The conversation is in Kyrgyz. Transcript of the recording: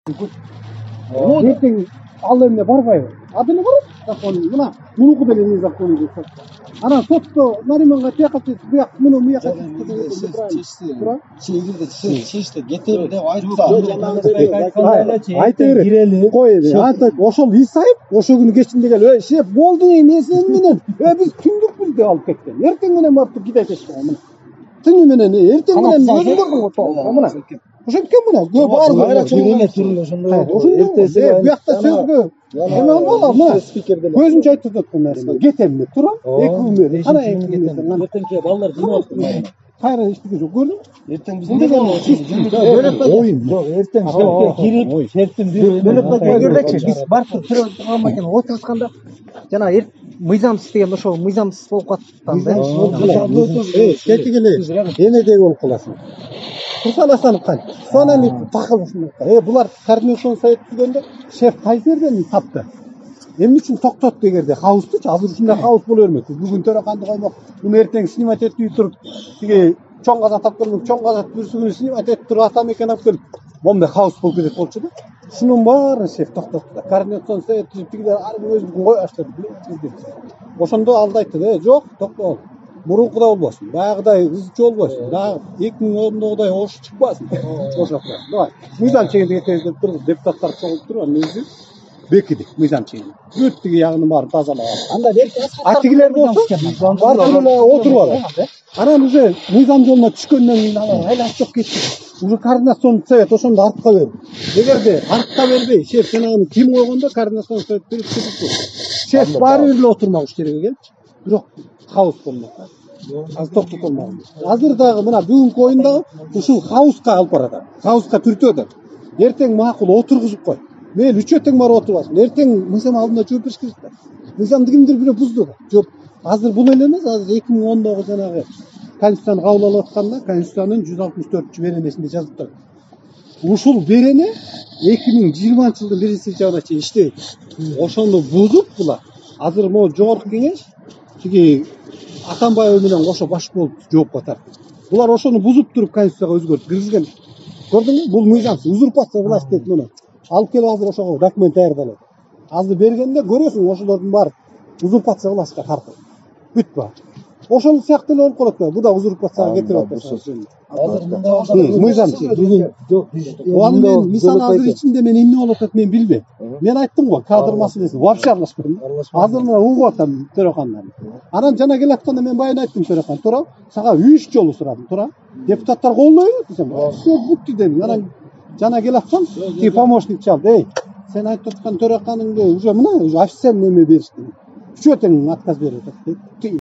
Ертең ал эмне барбайбы? Адыны барат закон. Мына мунуку деле не закон деп. Анан сотто Нариманга тияка буяк муну буяка чегирде чечти кетели деп айтса айта берет. Кой эми. Ошол Исаев ошол күнү кечинде келип, шеф болду эми сен менен. Биз түндүкпүз деп алып кеткен. Эртең менен барып кидет эшкен мына. Түнү менен эртең менен өзүң көрдүң го. Мына. Ошенткен мына. Түрүлө ошондой. Эртеси буякта сөзгө эме болбогу мына. Көзүнчө айтып жатат Нариман. Кетем деп турам. 2 күн бери. Кана 2 күн бери. Эртеңки балдар жиналыптыр. Кайра эчтеке жок көрдүң? Эртең биз эмне ойын. Жок, эртең кирип, шерттин эгердечи биз барып туруп турган экен, отурушканда жана мыйзамсыз деген ошол мыйзамсыз болуп калаттан да. Кетип эле. Эмедей болуп каласың. Курсаласанып кан. Сонаны такыл ушундай. Булар координацион совет түзгөндө шеф кайсы жерден тапты? Эмне үчүн токтот дегенде хаустучу азыр ушундай хаус боло бермек. Бүгүн төрөканды коймок, муну эртең снимать этип туруп, тиги чоң каза тапкырмын, чоң каза бүрсүгүн снимать этип туруп атамекен алып келип, момундай хаус болуп кетет болчу да. Шунун баарын шеф токтотту. Координацион совет түзүп тигилер ар бир өзүнүн кой баштады. Ошондо алды айтты, жок, токтол. Мурункудай болбосун. Баягыдай ызчы болбосун. Дагы 2010догудай ош чыкпасын. Ошокко. Давай. Мыйзам чегинде кетебиз деп турду. Депутаттар чогулуп туруп, анан өзү бекиди мыйзам чегин. Бүт тиги ягынын баарын тазалап алды. Анда берки тигилер болсо барып эле отуруп алат. Анан уже мыйзам жолуна түшкөндөн кийин алар айланып кетти. Уже координацион совет ошондо артка берди. Эгерде артка бербей, шеф сен аны ким койгондо координацион совет берип кетип. Шеф баары бир эле отурмак жерге келчи. Бирок хаус болмок. Азыр токтоп болмаган. Азыр дагы мына бүгүнкү оюндагы ушул хауска алып барат. Хауска түртөдө. Эртең макул отургузуп кой. Мен 3 тең барып отурбасын. Эртең мыйзам алдында жооп бериш керек да. Мыйзамды кимдир бирөө бузду да. Жооп. Азыр бул эле эмес, азыр 2010догу жанагы Конституцияны кабыл алып атканда Конституциянын 164-беренесинде жазып турат. Ушул берене 2020-жылдын 1-сентябрына чейин иштебейт. Ошону бузуп булар. Азыр могу жогорку кеңеш тиги Атамбаев менен кошо баш болуп жоопко тартты. Булар ошону бузуп туруп Конституцияга өзгөртүп киргизген. Көрдүңбү? Бул мыйзамсыз узурпация власть дейт муну. Алып келип азыр ошого документ даярдалат. Азыр бергенде көрөсүң ошолордун баары узурпация властька тартылды. Бүт баары. Ошол сыяктуу эле болуп калат да. Бу да узурпацияга кетирип атат. Мыйзамсыз. Ал мен мисалы азыр ичинде мен эмне болуп атат мен билбейм. Мен айттым го, кадр маселеси вообще аралашпадым. Азыр мына угуп атам төрөкандан. Анан жана келатканда мен байына айттым төрөкан, тура, сага 3 жолу сурадым, тура. Депутаттар колдойбу десем, всё бүттү дедим. Анан жана келаткан, ки помощник чалды. Эй, сен айтып аткан төрөканыңды уже мына официально эме беришти. 3 тең отказ берип атат.